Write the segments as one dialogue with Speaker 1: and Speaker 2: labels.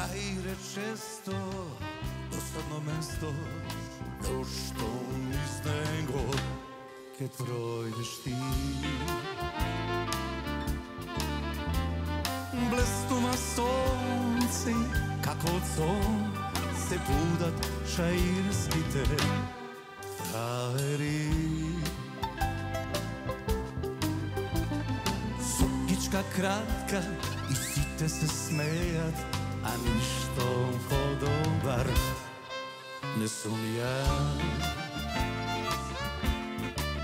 Speaker 1: Кај речесто досадно место, но што низ него ке тројдеш ти. Блестува сонце, како од сон се будат шаирските траери. Сукичка кратка и сите се смејат, а ништо подобар не сум ја.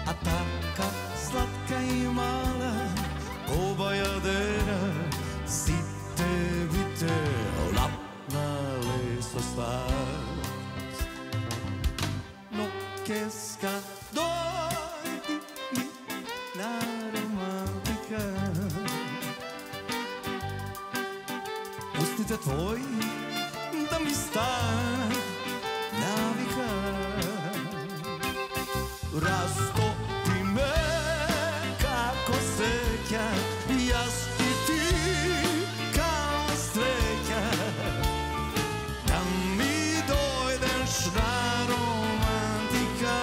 Speaker 1: А така сладка и мала, оба јадера, сите бите лапнале со сласт. Но кеска дојди ми на романтика, устните твои да ми станат навика. Растопи ме како сеќа, јас и ти као среќа, да ми дојдеш на романтика.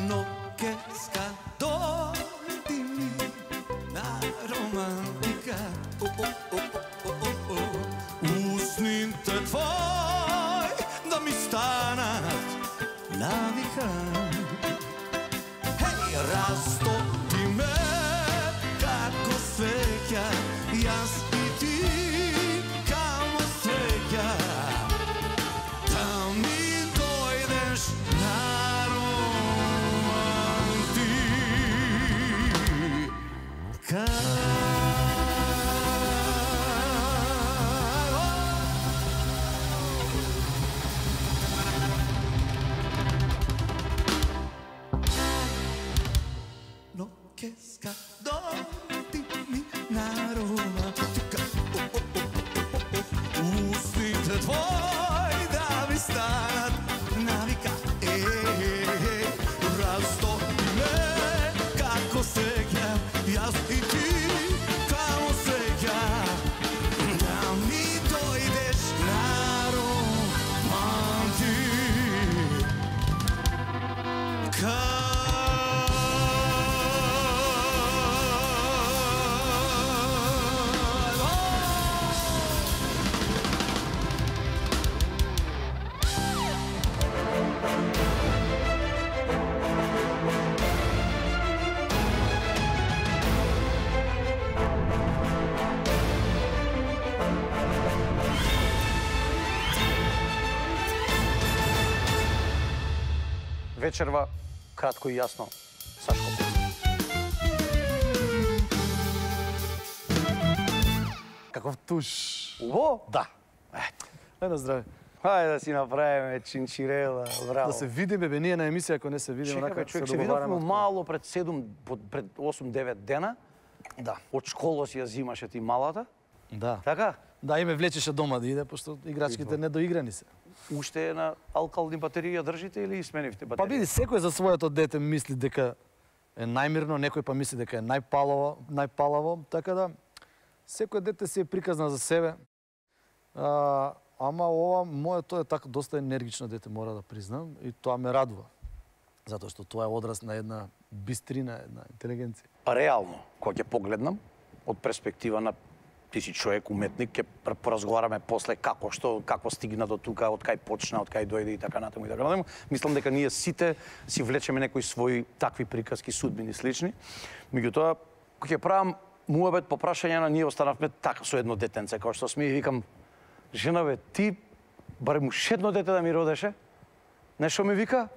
Speaker 1: Но кеска дојди ми на романтика. Усните твои да ми станат навика. Хеј, растопи ме како свеќа, јас и ти као среќа, да ми дојдеш на романтика. Но кеска дојди ми на романтика. Устните твои да ми станат навика. Растопи ме како сеќа, јас и ти као среќа, да ми дојдеш на романтика.
Speaker 2: Вечерва, кратко и јасно, Сашко Коцев.
Speaker 3: Каков туш.
Speaker 2: Убаво?
Speaker 3: Да. Едно здраве.
Speaker 2: Хајде да си направиме чинчирела, браво.
Speaker 3: Да се видиме, бе, ние на емисија, ако не се видиме,
Speaker 2: Чекај,
Speaker 3: онака
Speaker 2: човек,
Speaker 3: се
Speaker 2: се видовме
Speaker 3: договараме.
Speaker 2: мало пред 8-9 дена.
Speaker 3: Да.
Speaker 2: Од школа си ја зимаше ти малата.
Speaker 3: Да.
Speaker 2: Така?
Speaker 3: Да, и ме влечеше дома да иде, пошто играчките недоиграни се.
Speaker 2: Уште е на алкални батерии ја држите или сменивте батерии?
Speaker 3: Па види, секој за своето дете мисли дека е најмирно, некој па мисли дека е најпалаво, така да секој дете си е приказна за себе. Ама ова моето е така доста енергично дете, мора да признам, и тоа ме радува. Затоа што тоа е одраз на една бистрина, една интелигенција.
Speaker 2: Реално, кога ќе погледнам, од перспектива на ти си човек, уметник, ќе поразговараме после како стигна до тука, од кај почна, од кај дојде и така натаму и така натаму. Мислам дека ние сите си влечеме некои своји такви приказки, судбини слични. Меѓутоа, кога ќе правам муабет по прашање на ние останавме така со едно детенце, како што сме и викам, жена бе, ти барем уште едно дете да ми родеше? Нешто ми вика?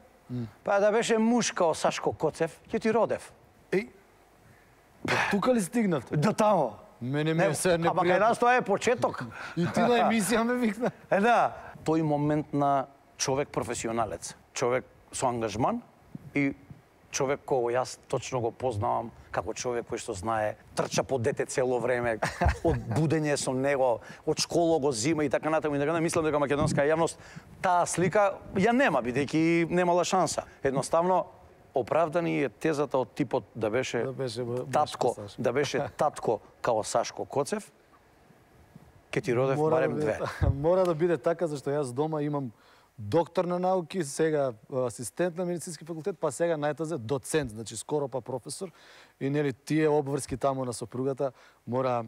Speaker 2: Па да беше муж као Сашко Коцев, ќе ти родев.
Speaker 3: Еј, Тука ли стигнавте?
Speaker 2: До тамо.
Speaker 3: Мене ми се
Speaker 2: Ама кај нас тоа е почеток.
Speaker 3: И ти на емисија ме викна.
Speaker 2: Да. Тој момент на човек професионалец, човек со ангажман и човек кој јас точно го познавам како човек кој што знае, трча по дете цело време, од будење со него, од школа го зима и така натаму и така натаму. Мислам дека македонска јавност таа слика ја нема, бидејќи немала шанса. Едноставно оправдани е тезата од типот да беше татко као Сашко Коцев, ке ти родев барем две.
Speaker 3: Мора да биде така, зашто јас дома имам доктор на науки, сега асистент на медицински факултет, па сега најтазе доцент, значи скоро па професор. И нели тие обврски таму на сопругата мора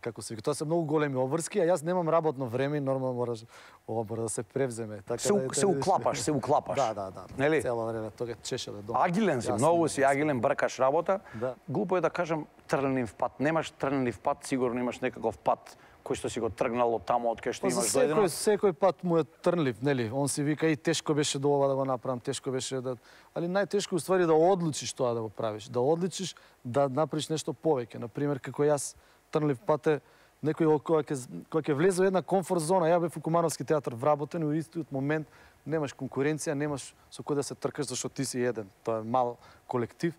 Speaker 3: како се вика, тоа се многу големи обврски, а јас немам работно време и нормално мора да се превземе. Така
Speaker 2: се уклапаш, се уклапаш.
Speaker 3: Да.
Speaker 2: Нели?
Speaker 3: Цело време тоа чешеле дома.
Speaker 2: Агилен си, многу си агилен, бркаш работа.
Speaker 3: Да.
Speaker 2: Глупо е да кажам трнлив пат. Немаш трнлив пат, сигурно имаш некаков пат кој што си го тргнал од таму од кај што имаш дојдено.
Speaker 3: Секој пат му е трнлив, нели? Он си вика и тешко беше до ова да го направам, тешко беше да, али најтешко е уствари да одлучиш тоа да го правиш, да одлучиш да направиш нешто повеќе. На пример како јас трнлив пат е некој кој ќе влезе во една комфорт зона. Ја бев во Кумановски театар вработен и во истиот момент немаш конкуренција, немаш со кој да се тркаш зашто ти си еден. Тоа е мал колектив.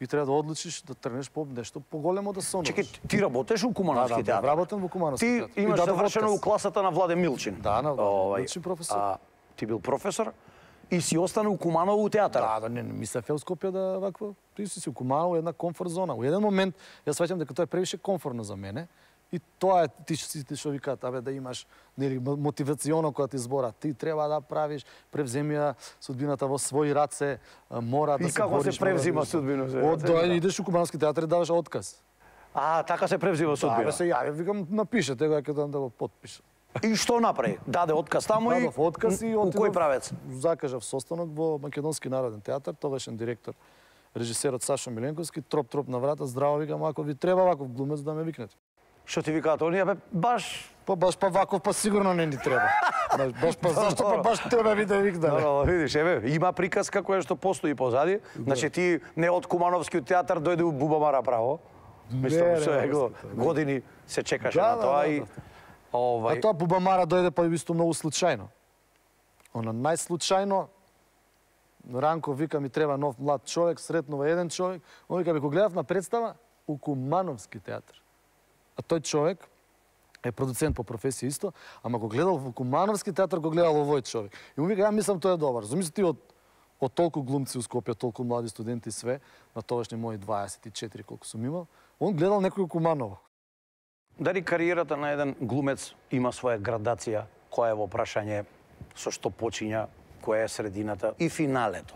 Speaker 3: И треба да одлучиш да тргнеш по нешто поголемо да сонуваш.
Speaker 2: Чекај, ти работеш во Кумановски театар?
Speaker 3: Да, работам во Кумановски театар.
Speaker 2: Ти имаш завршено у класата на Владе Милчин.
Speaker 3: Да, на Владе Милчин професор.
Speaker 2: Ти бил професор и си остана у Куманово у театар.
Speaker 3: Да, не мислев у Скопје да вакво. Ти си у Куманово една комфорт зона. Во еден момент јас сваќам дека тоа е превише комфортно за мене. И тоа е ти што викаат, да имаш нели мотивационо кога ти збора, ти треба да правиш, превземи судбината во своји раце, мора да се бориш.
Speaker 2: И како се превзима судбината?
Speaker 3: Идеш у Кумановски театар и даваш отказ.
Speaker 2: Така се превзима судбина.
Speaker 3: Да, се јави, викам напишете го, ќе да го потпишам.
Speaker 2: И што направи? Даде отказ таму и
Speaker 3: дадов отказ и
Speaker 2: у кој правец?
Speaker 3: Закажав состанок во Македонски народен театар, тогашен директор режисерот Сашо Миленковски, троп на врата, здраво, викам, ако ви треба ваков глумец да ме викнете.
Speaker 2: Што ти викаат оние, баш
Speaker 3: ваков, сигурно не ни треба. Зашто баш тебе ви да викнеме?
Speaker 2: Видиш, има приказка која што постои позади. Значи ти не од Кумановскиот театар дојде у Бубамара право. Мислам, што години се чекаше на тоа и
Speaker 3: А тоа Бубамара дојде па исто многу случајно. Она најслучајно Ранко вика ми треба нов млад човек, сретнува еден човек. Он вика, го гледав на представа у Кумановски театар. А тој човек е продуцент по професија исто, ама го гледал во Кумановски театар, го гледал овој човек. И му вика, ја мислам тој е добар. Замисли ти од толку глумци у Скопје, толку млади студенти све, на тогашни мои 24 колку сум имал, он гледал некој у Куманово.
Speaker 2: Дали кариерата на еден глумец има своја градација, која е во прашање со што почиња, која е средината и финалето?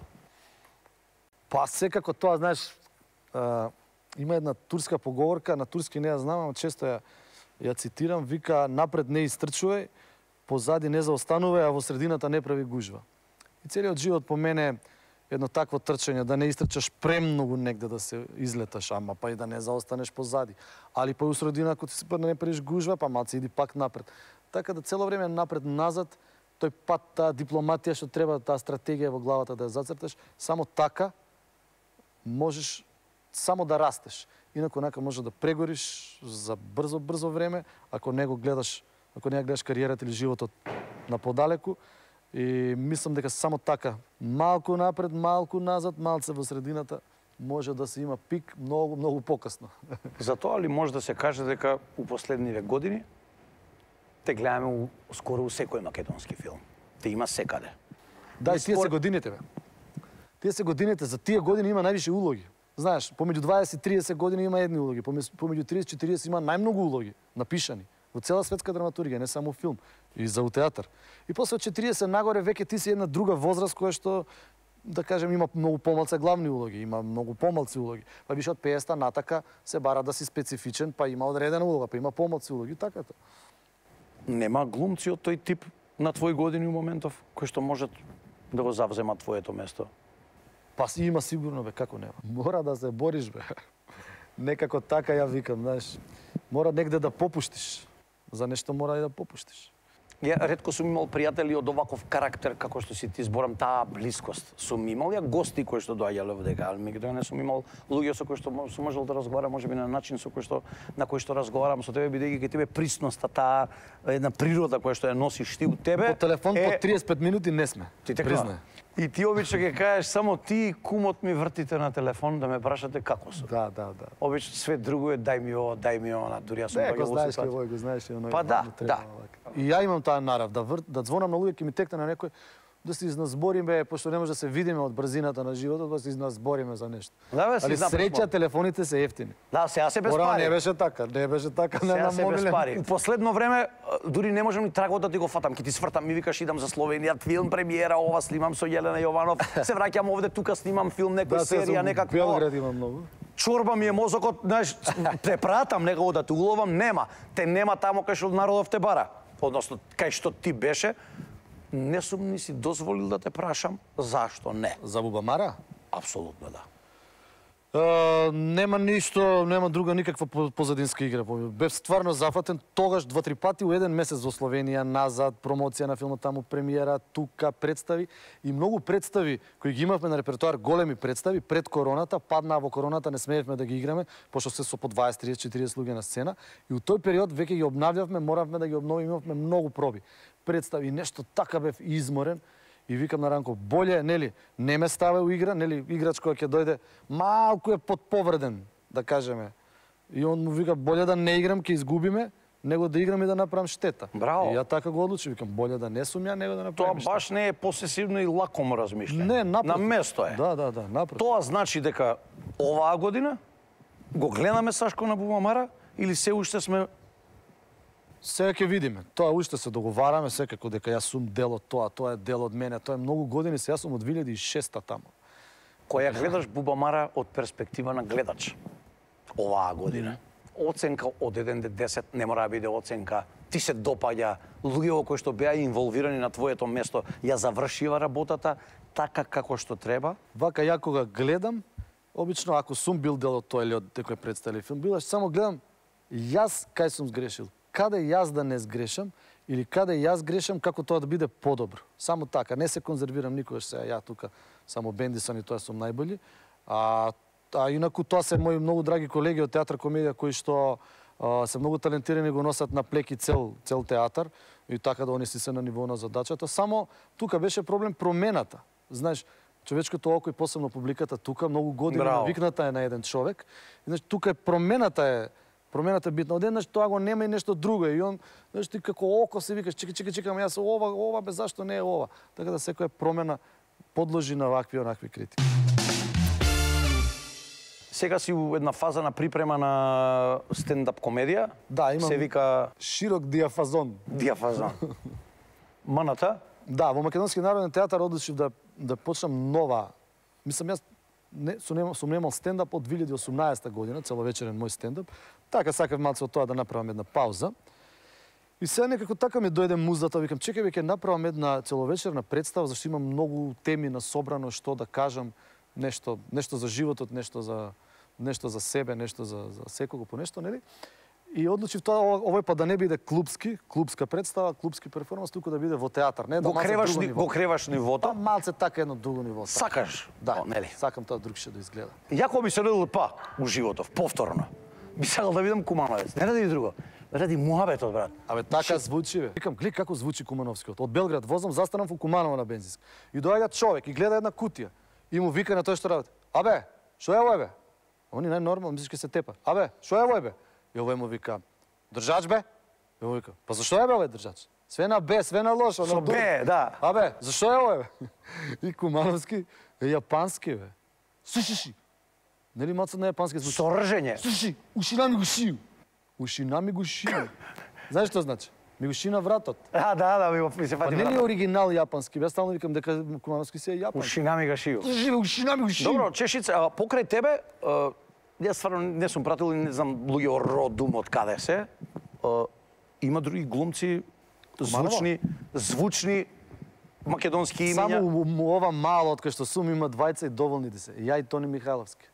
Speaker 3: Па секако тоа, знаеш, има една турска поговорка, на турски не ја знам, ама често ја цитирам, вика напред не истрчувај, позади не заостанувај, а во средината не прави гужва. И целиот живот по мене едно такво трчање, да не истрчаш премногу негде да се излеташ, ама па и да не заостанеш позади. Али па и у средина, ако ти се не правиш гужва, па малце иди пак напред. Така да цело време напред-назад, тој пат, таа дипломатија што треба, таа стратегија во главата да ја зацрташ, само така можеш само да растеш. Инаку може да прегориш за брзо време, ако не гледаш кариерата или животот на подалеку. И мислам дека само така, малку напред, малку назад, малце во средината, може да се има пик многу покасно.
Speaker 2: Затоа ли може да се каже дека у последниве години те гледаме скоро у секој македонски филм. Те има секаде.
Speaker 3: Да, и тие се годините, бе. Тие се годините, за тие години има највише улоги. Знаеш, помеѓу 20-30 години има едни улоги, помеѓу 30-40 има најмногу улоги напишани во цела светска драматургија, не само филм, и за театар. И после од 40 нагоре веќе ти си една друга возраст која што, да кажем, има многу помалце главни улоги, има многу помалци улоги. Па више од 50 натака се бара да си специфичен, па има одредена улога, па има помалци улоги, така тоа.
Speaker 2: Нема глумци од тој тип на твои години у моментов кои што можат да го завземат твоето место?
Speaker 3: Па си има сигурно, бе, како нема. Мора да се бориш, бе. Некако така ја викам, знаеш. Мора негде да попуштиш. За нешто мора и да попуштиш.
Speaker 2: Ја ретко сум имал пријатели од оваков карактер како што си ти зборам, таа блискост. Сум имал ја гости кои што доаѓале овдека, ал меѓутоа не сум имал луѓе со кои што сум можел да разговарам, можеби на начин на кој што разговарам со тебе, бидејќи кај тебе присноста, таа една природа која што ја носиш ти у тебе.
Speaker 3: По телефон по 35 минути не сме.
Speaker 2: Ти така. И ти обично ќе кажеш само ти и кумот ми вртите на телефон да ме прашате како сум.
Speaker 3: Да.
Speaker 2: Обично све друго е дај ми ова, дури јас сум
Speaker 3: го знаеш кој го знаеш и оној.
Speaker 2: Па да.
Speaker 3: И ја имам таа нарав да звонам на луѓе, ќе ми текне на некој да се изназбориме, пошто не може да се видиме од брзината на животот, да се изназбориме за нешто. Али среќа телефоните се ефтини.
Speaker 2: Да, сега се без
Speaker 3: пари.
Speaker 2: пари.
Speaker 3: Не беше така, не на мобилен.
Speaker 2: У последно време дури не можам ни трагот да ти го фатам, ќе ти свртам, ми викаш идам за Словенија, филм премиера, ова снимам со Јелена Јованов, се враќам овде, тука снимам филм, некоја серија, некакво.
Speaker 3: Белград има многу.
Speaker 2: Чорба ми е мозокот, знаеш, те пратам некако да те уловам, нема. Те нема тамо кај што народов те бара. Односно, кај што ти беше, не сум ни си дозволил да те прашам зашто не.
Speaker 3: За Бубамара?
Speaker 2: Апсолутно да.
Speaker 3: Нема ништо, нема друга никаква позадинска игра. Бев стварно зафатен тогаш 2-3 пати у еден месец во Словенија, назад, промоција на филмот таму, премиера, тука, представи и многу представи кои ги имавме на репертоар, големи представи пред короната, паднаа во короната, не смеевме да ги играме, пошто се со по 20, 30, 40 луѓе на сцена и у тој период веќе ги обнавljавме, моравме да ги обновиме, имавме многу проби. Представи, нешто така бев изморен. И викам на Ранко, боле, нели, не ме ставе у игра, нели, играч кој ќе дојде, малку е подповреден, да кажеме. И он му вика, боле да не играм, ќе изгубиме, него да играм и да направам штета.
Speaker 2: Браво.
Speaker 3: И ја така го одлучи, викам, боле да не сум ја, него да направам штета.
Speaker 2: Тоа баш не е посесивно и лакомо размишлење.
Speaker 3: Не, напротив.
Speaker 2: На место е.
Speaker 3: Да, напротив.
Speaker 2: Тоа значи дека оваа година го гледаме Сашко на Бубамара или се уште сме.
Speaker 3: Сега ќе видиме. Тоа уште се договараме секако дека јас сум дел од тоа е дел од мене. Тоа е многу години, се јас сум од 2006 таму.
Speaker 2: Која гледаш Бубамара од перспектива на гледач оваа година. Оценка од 1 до 10 не мора да биде оценка. Ти се допаѓа, луѓе кои што беа инволвирани на твоето место, ја завршива работата така како што треба.
Speaker 3: Вака ја кога гледам, обично ако сум бил дел од тоа или од некој представи филм, билаш само гледам јас кај сум сгрешил. Каде јас да не сгрешам или каде јас грешам како тоа да биде подобро. Само така, не се конзервирам никогаш сега ја тука, само Бендисон и тоа сум најбољи. А инаку тоа се мои многу драги колеги од театар комедија кои што се многу талентирани, го носат на плеки цел театар и така да они си се на ниво на задачата. Само тука беше проблем промената. Знаеш, човечкото око и посебно публиката тука многу години навикната е на еден човек. Значи тука е промената е битна. Одеднаш тоа го нема и нешто друго. И он, знаеш, ти како око се викаш, чекам, јас ова, бе, зашто не е ова? Така да секоја промена подложи на вакви критики.
Speaker 2: Сега си у една фаза на припрема на стендап комедија.
Speaker 3: Да, имам.
Speaker 2: Се вика
Speaker 3: широк диапазон.
Speaker 2: Маната?
Speaker 3: Да, во Македонски народен театар одлучив да почнам нова. Мислам, јас сум немал стендап од 2018 година, целовечерен мој стендап. Така сакав малце од тоа да направам една пауза. И сега некако така ми дојде музата, викам, чекај, ќе направам една целовечерна представа, зашто имам многу теми на собрано што да кажам, нешто за животот, нешто за себе, нешто за секого по нешто, нели? И одлучив тоа овој па да не биде клубска представа, клубски перформанс, туку да биде во театар, не да
Speaker 2: го креваш нивото.
Speaker 3: Па малце така едно друго ниво.
Speaker 2: Сакаш?
Speaker 3: Да,
Speaker 2: нели?
Speaker 3: Сакам тоа другше да изгледа.
Speaker 2: Јако би се родил у животов, повторно. Би сакал да видам Кумановец. Не ради друго. Ради муабетот, брат.
Speaker 3: Абе, така звучи, бе. Викам, гледа како звучи Кумановскиот. Од Белград возам, застанам во Куманово на бензинска. И доаѓа човек и гледа една кутија. И му вика на тој што работи. Абе, што е овој, бе? Они најнормално, мислиш ке се тепа. Абе, што е овој, бе? И овој му вика, држач, бе? И овој вика, па зашто е, бе, овој држач? Све на Б, све на лошо.
Speaker 2: Со Б, да.
Speaker 3: Абе, зашто е овој, бе? И Кумановски е јапански, бе. Слушай, нели малце на јапански звучи?
Speaker 2: Со ржење.
Speaker 3: Слушай, ушина ми го шију. Ушина ми го шију. Знаеш што значи? Ми го шина вратот.
Speaker 2: Да, ми се фати.
Speaker 3: Па нели е оригинал јапански? Јас стално викам дека Кумановски се е јапански.
Speaker 2: Ушина ми го шију.
Speaker 3: Ушина ми го шију.
Speaker 2: Добро, Чешица, покрај тебе, јас стварно не сум пратил и не знам луѓе од родум од каде се. Има други глумци, звучни македонски имиња.
Speaker 3: Само ова мало од кај што сум има двајца и доволни се. Ја и Тони Михайловски.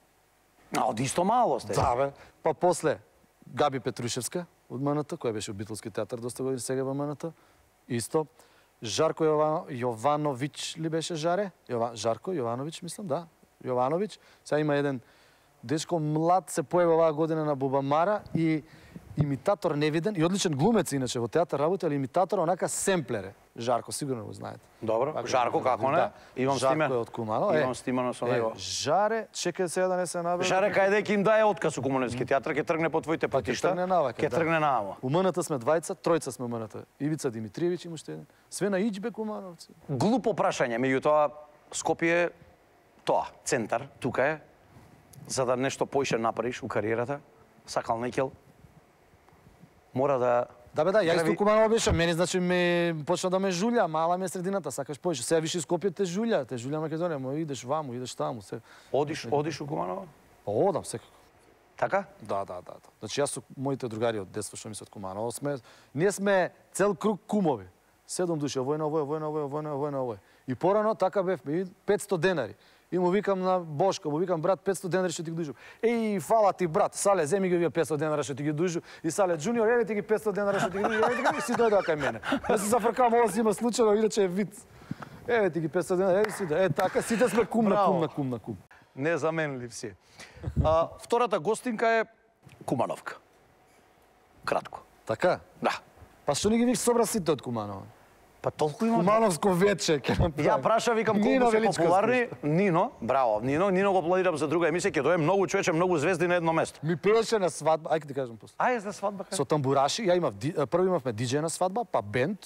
Speaker 2: Од исто мало сте.
Speaker 3: Да, бе. Па после Габи Петрушевска од МНТ, која беше во Битолски театар доста години, сега во МНТ. Исто. Жарко Јовановиќ ли беше Жаре? Жарко Јовановиќ, мислам, да. Јовановиќ. Сега има еден дечко млад се појави оваа година на Бубамара и имитатор невиден и одличен глумец иначе во театар работи, али имитатор онака семплере. Жарко, сигурно го знаете.
Speaker 2: Добро, Жарко како не?
Speaker 3: Да.
Speaker 2: Имам
Speaker 3: Жарко
Speaker 2: стимен.
Speaker 3: е од Куманово.
Speaker 2: Имам стимено со него.
Speaker 3: Жаре, чекај сега да не се набере.
Speaker 2: Жаре кај дека им дае отказ у Комунистски театр, ќе тргне по твоите патишта.
Speaker 3: тргне навака,
Speaker 2: Ќе
Speaker 3: да.
Speaker 2: тргне наама.
Speaker 3: У МНТ сме двајца, тројца сме у МНТ. Ивица Димитриевиќ има уште еден. Све на Иџбе Кумановци.
Speaker 2: Глупо прашање, меѓутоа Скопје тоа, центар, тука е, за да нешто поише направиш у кариерата, сакал некел, мора да...
Speaker 3: Да бе, да, ја исто
Speaker 2: Прави-
Speaker 3: Куманово беше, мене значи ме почна да ме жулја, мала ми е средината, сакаш поише. Сега виши Скопје те жулја Македонија, мо идеш ваму, идеш таму, се.
Speaker 2: Одиш у Куманово?
Speaker 3: Одам секако.
Speaker 2: Така?
Speaker 3: Да. Значи јас со моите другари од детство што ми се од Куманово ние сме цел круг кумови. 7 души, овој на овој. И порано така бевме, 500 денари. И му викам на Бошко, му викам брат 500 денари што ти ги дужу. Еј, фала ти брат, Сале, земи ги вие 500 денари што ти ги дужу. И Сале џуниор, еве ти ги 500 денари што ти ги дужу, еве ти ги, и си дојде кај мене. Јас се зафркам, ова си има случајно, иначе е виц. Еве ти ги 500 денари, еве си да, така, сите сме кум на кум.
Speaker 2: Незаменлив си. Втората гостинка е Кумановка. Кратко.
Speaker 3: Така?
Speaker 2: Да.
Speaker 3: Па што не ги вик собра сите од Куманово?
Speaker 2: Па толку има.
Speaker 3: Кумановско вече ќе направи.
Speaker 2: Ја праша, викам, колку се популарни. Нино, браво, Нино го планирам за друга емисија, ќе дојде многу човече, многу звезди на едно место.
Speaker 3: Ми пееше на свадба, ајде ти кажам после.
Speaker 2: Ајде за свадба.
Speaker 3: Со тамбураши, прво имавме диџеј на свадба, па бенд,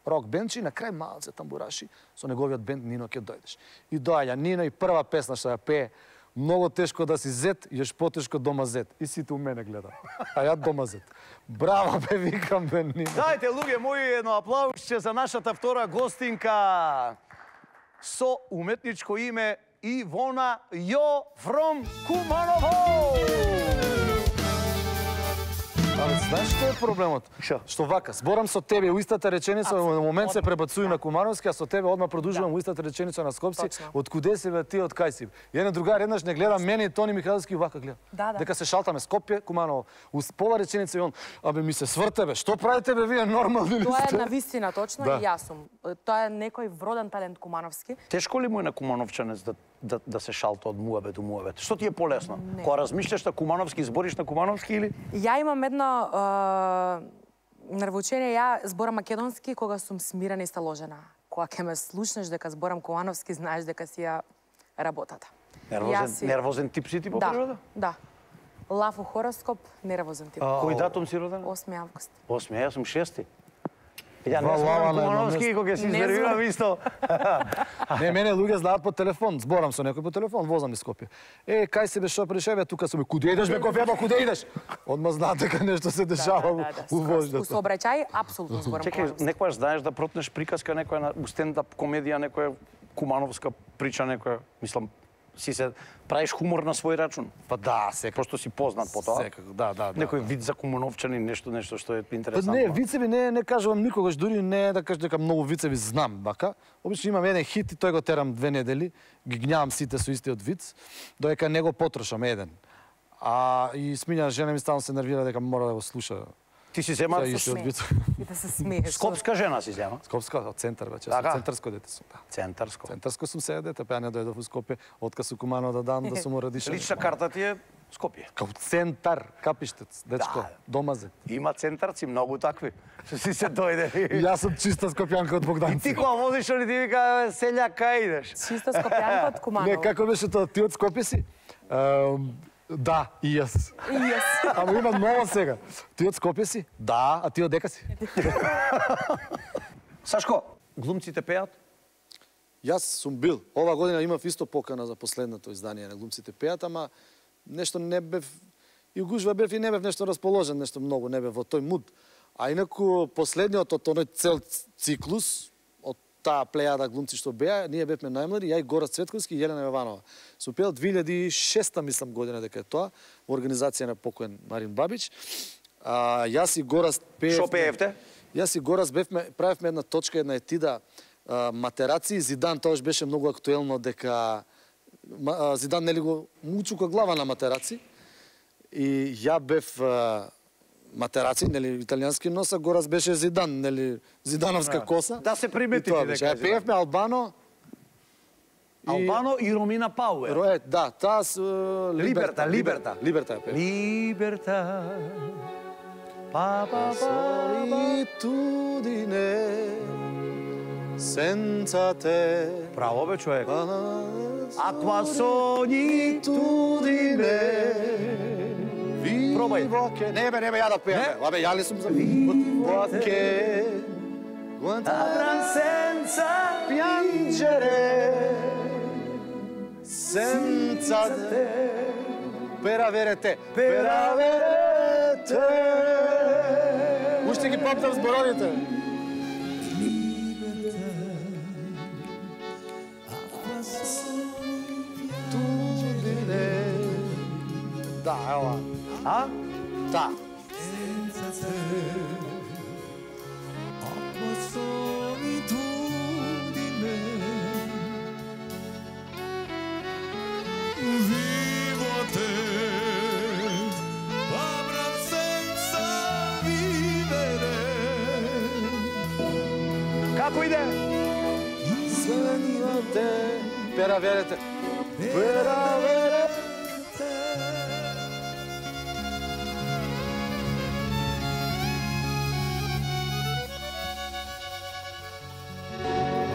Speaker 3: рок бенд, и на крај малце тамбураши, со неговиот бенд Нино ќе дојдеш. И доаѓа Нино и прва песна што ја пее, многу тешко да си зет, још потешко дома зет. И сите у мене гледа. А ја дома зет. Браво бе, викам бе Нино.
Speaker 2: Дајте, луѓе мои, едно аплаусче за нашата втора гостинка со уметничко име Ивона Јо from Куманово.
Speaker 3: Але знаеш што е проблемот?
Speaker 2: Што?
Speaker 3: Што вака, зборам со тебе у истата реченица, во момент се пребацуju на Кумановски, а со тебе одма продолжувам у истата реченица на Скопски. Од куде си бе ти, од кај си? Еден другар еднаш не гледа мене и Тони Михайловски вака гледа.
Speaker 4: Да.
Speaker 3: Дека се шалтаме Скопје, Куманово. У пола реченица и он, абе ми се сврте бе, што правите бе вие нормални ли
Speaker 4: Тоа
Speaker 3: сте?
Speaker 4: е на вистина точно
Speaker 3: Да.
Speaker 4: и јас сум. Тоа е некој вроден талент Кумановски.
Speaker 2: Тешко ли му е на Кумановчанец да се шалта од муабет до муабет? Што ти е полесно? Кога размишляш на Кумановски, збориш на Кумановски или?
Speaker 4: Ја имам едно нервоучение, ја зборам македонски кога сум смирена и сталожена. Кога ќе ме слушнеш дека зборам Кумановски, знаеш дека си ја работата.
Speaker 2: Нервозен тип си ти по природа?
Speaker 4: Да. Лав у хороскоп, нервозен тип.
Speaker 2: Кој датум си роден?
Speaker 4: 8 август.
Speaker 2: 8, јас сум 6. Ја не
Speaker 3: Вала,
Speaker 2: зборам
Speaker 3: на едно
Speaker 2: Кумановски
Speaker 3: место.
Speaker 2: кога ќе се
Speaker 4: Не
Speaker 2: извервирам
Speaker 4: зборам.
Speaker 2: исто.
Speaker 3: Не, мене луѓе знаат по телефон, зборам со некој по телефон, возам низ Скопје. Кај се бе, што пришеве, тука сум, куде идеш бе, кофеба, куде идеш? Одма знаат дека нешто се дешава у
Speaker 4: У
Speaker 3: вождата.
Speaker 4: сообраќај апсолутно зборам
Speaker 2: Чекај,
Speaker 4: Кумановски.
Speaker 2: некојаш знаеш да протнеш приказка, некоја у стендап комедија, некоја кумановска прича, некоја, мислам, си се правиш хумор на свој рачун.
Speaker 3: Па да, секако.
Speaker 2: Пошто си познат по тоа.
Speaker 3: Секако, да.
Speaker 2: Некој вид за кумановчани, нешто што е
Speaker 3: Па
Speaker 2: интересантно.
Speaker 3: не, вицеви не кажувам никогаш, дури не да кажам дека многу вицеви знам, бака. Обично имам еден хит и тој го терам 2 недели, ги гњавам сите со истиот виц, додека не го потрошам еден. И смиња жена ми стално се нервира дека мора да го слуша.
Speaker 2: Ти си земат
Speaker 3: Се истиот
Speaker 4: смее.
Speaker 3: виц.
Speaker 4: И да се смееш.
Speaker 2: скопска жена си зема.
Speaker 3: Скопска, од центар вече,
Speaker 2: Така.
Speaker 3: центарско дете сум. Да.
Speaker 2: Центарско.
Speaker 3: Центарско сум се дете, па ја не дојдов у Скопје, откад су Куманово да дам да сум родишен.
Speaker 2: Лична карта ти е Скопје.
Speaker 3: Као центар, капиштец, дечко,
Speaker 2: Да.
Speaker 3: домазет.
Speaker 2: Има центарци многу такви. Си се дојде.
Speaker 3: И јас сум чиста скопјанка од
Speaker 2: И
Speaker 3: Богданци.
Speaker 2: ти кога возиш, они ти вика, селјак, кај идеш?
Speaker 4: Чиста скопјанка од
Speaker 3: Не,
Speaker 4: Куманово.
Speaker 3: како беше тоа, ти од Скопје си? Да, и јас.
Speaker 4: И јас.
Speaker 3: Ама има ново сега. Ти од Скопје си? Да, а ти од дека си?
Speaker 2: Сашко, глумците пеат?
Speaker 3: Јас сум бил. Ова година имав исто покана за последното издание на Глумците пеат, ама нешто не бев и гужва бев и не бев нешто расположен, нешто многу не бев во тој муд. А инаку последниот од тој цел циклус од таа плејада глумци што беа, ние бевме најмлади, ја и Гора Цветковски и Јелена Јованова. Сум пеел 2006 мислам година дека е тоа, во организација на покоен Марин Бабич. Јас и Горас пеевме.
Speaker 2: Шо пеевте?
Speaker 3: Јас и Горас бевме, правевме една точка, една етида матераци. Зидан тоаш беше многу актуелно дека Зидан нели го мучука глава на матераци. И ја бев матераци, нели, италијански нос, а горас беше Зидан, нели, зидановска коса.
Speaker 2: Да се примети
Speaker 3: И тоа
Speaker 2: ти
Speaker 3: беше.
Speaker 2: дека.
Speaker 3: Пеевме Албано.
Speaker 2: Албано и Ромина Пауер.
Speaker 3: Да, таа с
Speaker 2: Либерта.
Speaker 3: Либерта ја пее.
Speaker 2: Либерта. Па па па.
Speaker 3: Solitudine senza te.
Speaker 2: Браво бе човек.
Speaker 3: Acqua
Speaker 2: solitudine. Пробај.
Speaker 3: Не бе, ја да пеем. Абе, ја ли сум за Perché
Speaker 2: Avrà senza
Speaker 3: piangere senza te per avere te. Per avere te. Уште ги памтам зборовите. Да, ева.
Speaker 2: А?
Speaker 3: Да.
Speaker 1: Vivo a te, avrà senza vivere.
Speaker 2: Како иде?
Speaker 3: Senza te per avere te. Per avere te.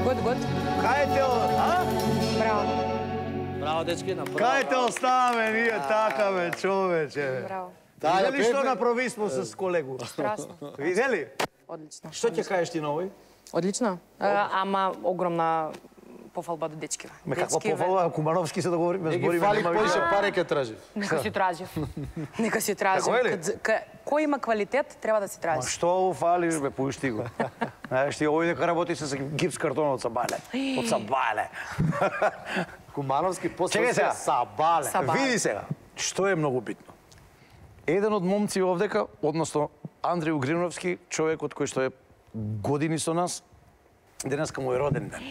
Speaker 4: Год.
Speaker 2: Кај те, а?
Speaker 4: Браво.
Speaker 3: Браво, дечки, направо.
Speaker 2: Кај те оставаме ние така бе, човече.
Speaker 4: Браво.
Speaker 3: Да, ја
Speaker 2: Видели што
Speaker 3: пеевме.
Speaker 2: направи смо с колегу?
Speaker 4: Страшно.
Speaker 2: Видели?
Speaker 4: Одлично.
Speaker 2: Што ќе кажеш ти на овој?
Speaker 4: Одлично. Ама огромна пофалба до дечкива.
Speaker 2: Ме каква
Speaker 4: Дечкиве-
Speaker 2: пофалба, Кумановски се договориме,
Speaker 3: Не ги
Speaker 2: збориме.
Speaker 3: фали
Speaker 2: нема
Speaker 3: поише
Speaker 2: више.
Speaker 3: пари ке тражи.
Speaker 4: Нека си тражив. Нека си тражив.
Speaker 2: Тако е ли?
Speaker 4: Кој има квалитет, треба да си
Speaker 2: Ма
Speaker 4: тражи.
Speaker 2: што фалиш бе, пушти го. Знаеш ти овој дека работи со гипс картон од Сабале. Од Сабале.
Speaker 3: Кумановски после
Speaker 2: Чекај сега.
Speaker 3: Сабале.
Speaker 4: Сабале.
Speaker 2: Види сега, што е многу битно. Еден од момци овдека, односно Андреј Угриновски, човекот кој што е години со нас, денеска му е роден ден.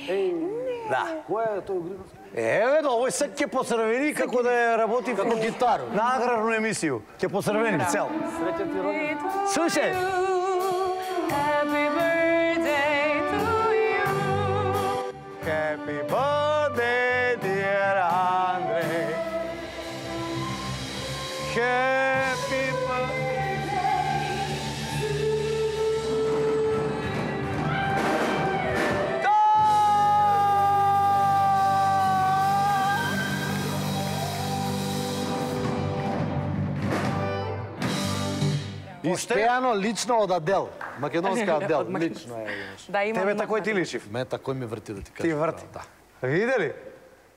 Speaker 2: Да.
Speaker 3: Кој е тој Угриновски?
Speaker 2: Еве, да, овој сак ќе поцрвени како да е работи
Speaker 3: Како гитару.
Speaker 2: на аграрну емисију. Ќе поцрвени цел.
Speaker 3: Среќен ти роден.
Speaker 2: Слушај.
Speaker 4: Happy birthday to you.
Speaker 2: Happy birthday, dear Andre. Happy birthday.
Speaker 3: Испеано лично од Адел. Македонска Адел.
Speaker 4: Од Македонска.
Speaker 3: Лично е. знаеш.
Speaker 4: Да, има.
Speaker 2: Тебе тако ти личив.
Speaker 3: Ме такој ми врти да ти кажам.
Speaker 2: Ти врти.
Speaker 3: Да.
Speaker 2: Видели?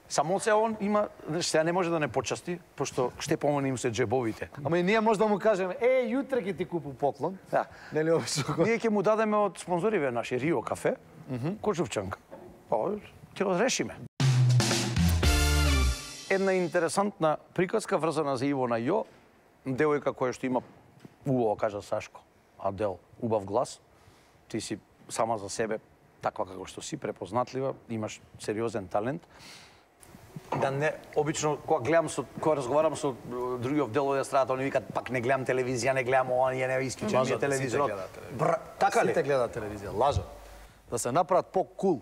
Speaker 2: Само се он има, сега не може да не почасти, пошто ще помони им се джебовите.
Speaker 3: Ама и ние може да му кажеме, јутре ќе ти купу поклон.
Speaker 2: Да.
Speaker 3: Нели обично?
Speaker 2: Ние ќе му дадеме од спонзориве наши Рио кафе, кочувчанка. Па, ќе разрешиме. Една интересантна приказка врзана за Ивона Јо, девојка која што има убаво, кажа Сашко, Адел, убав глас. Ти си сама за себе таква како што си, препознатлива, имаш сериозен талент. Да не, обично кога гледам кога разговарам со други од делови од страната, они викаат пак не гледам телевизија, не гледам ова, ние не исклучен ми е телевизорот. Така ли?
Speaker 3: Сите гледаат телевизија, лажат. Да се направат по-кул.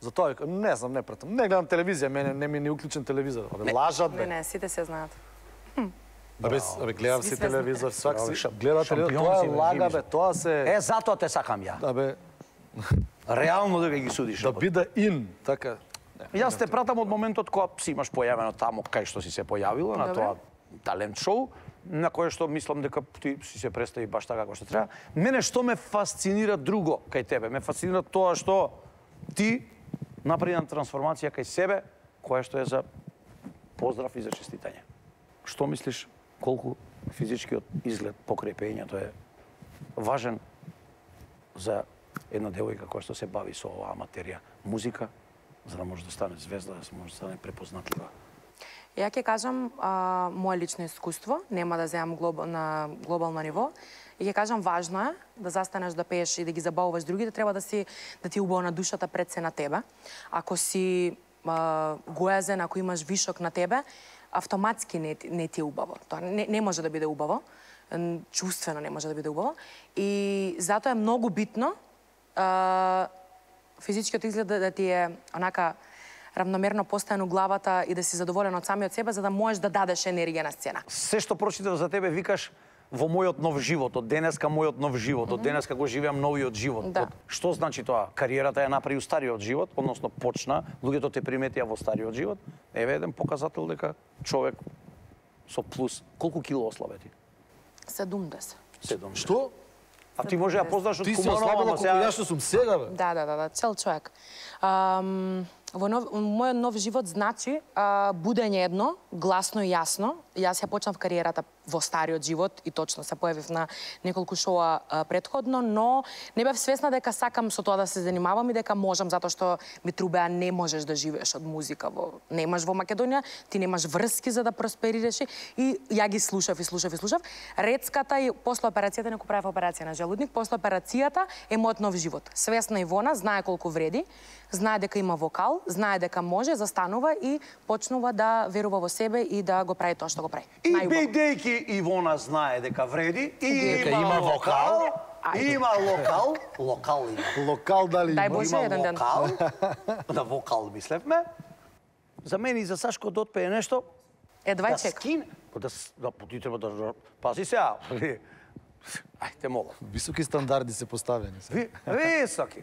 Speaker 3: Затоа викам, не знам, не пратам. Не гледам телевизија, мене не ми е ни уклучен телевизор. Абе, лажат бе.
Speaker 4: Не, сите се знаат.
Speaker 3: Абе, гледам
Speaker 4: Сви
Speaker 3: си
Speaker 4: свесни.
Speaker 3: телевизор, свак си
Speaker 2: Шампион
Speaker 3: гледа
Speaker 2: си,
Speaker 3: телевизор.
Speaker 2: бе,
Speaker 3: Тоа е
Speaker 2: живиш.
Speaker 3: лага бе, тоа се
Speaker 2: Е, затоа те сакам ја.
Speaker 3: абе
Speaker 2: Реално дека ги судиш.
Speaker 3: да биде ин, така.
Speaker 2: Јас те пратам од моментот кога си имаш појавено таму кај што си се појавила на
Speaker 4: Добре.
Speaker 2: тоа талент шоу, на кое што мислам дека ти си се представи баш така како што треба. Мене што ме фасцинира друго кај тебе? Ме фасцинира тоа што ти направи една трансформација кај себе, која што е за поздрав и за честитање. Што мислиш колку физичкиот изглед покрај пеењето е важен за една девојка која што се бави со оваа материја, музика, за да може да стане звезда, да може да стане препознатлива?
Speaker 4: Ја ќе кажам моje лично искуство, нема да земам на глобално ниво, и ќе кажам важно е да застанеш да пееш и да ги забавуваш другите, треба да ти е убаво на душата пред се на тебе. Ако си гоезен, ако имаш вишок на тебе, автоматски не ти е убаво. Тоа не може да биде убаво. чувствено не може да биде убаво. И затоа е многу битно физичкиот изглед да ти е онака равномерно постојано главата и да си задоволен од самиот себе, за да можеш да дадеш енергија на сцена.
Speaker 2: Се што прочитав за тебе викаш во мојот нов живот, од денеска мојот нов живот, од денеска го живеам новиот живот.
Speaker 4: Да.
Speaker 2: Што значи тоа? Кариерата ја направи у стариот живот, односно почна, луѓето те приметија во стариот живот. Еве еден показател дека човек со плюс колку кило ослабе ти?
Speaker 4: 70.
Speaker 2: 7.
Speaker 3: Што?
Speaker 2: А ти може да познаш од
Speaker 3: Ти си
Speaker 2: Куманово,
Speaker 3: ослабила
Speaker 2: ама
Speaker 3: колку јас што сум сега, бе.
Speaker 4: Да, цел човек. Во мојот нов живот значи будење едно, гласно и јасно. Јас ја почнав кариерата во стариот живот и точно се појавив на неколку шоа претходно, но не бев свесна дека сакам со тоа да се занимавам и дека можам, затоа што ми трубеа не можеш да живееш од музика немаш во Македонија, ти немаш врски за да просперираш и ја ги слушав. Рецката и после операцијата, не правев операција на желудник, после операцијата е мојот нов живот. Свесна Ивона знае колку вреди, знае дека има вокал, знае дека може, застанува и почнува да верува во себе и да го прави тоа што го прави.
Speaker 2: И бидејќи Ивона знае дека вреди, и има вокал, има локал има.
Speaker 3: Локал дали
Speaker 4: Дај
Speaker 3: има?
Speaker 4: Боже, еден ден.
Speaker 2: Да вокал мислевме. За мене и за Сашко да отпее нешто.
Speaker 4: Едва чека.
Speaker 2: скине. Ти треба да пази сега. Ајде молам.
Speaker 3: Високи стандарди се поставени.
Speaker 2: Високи.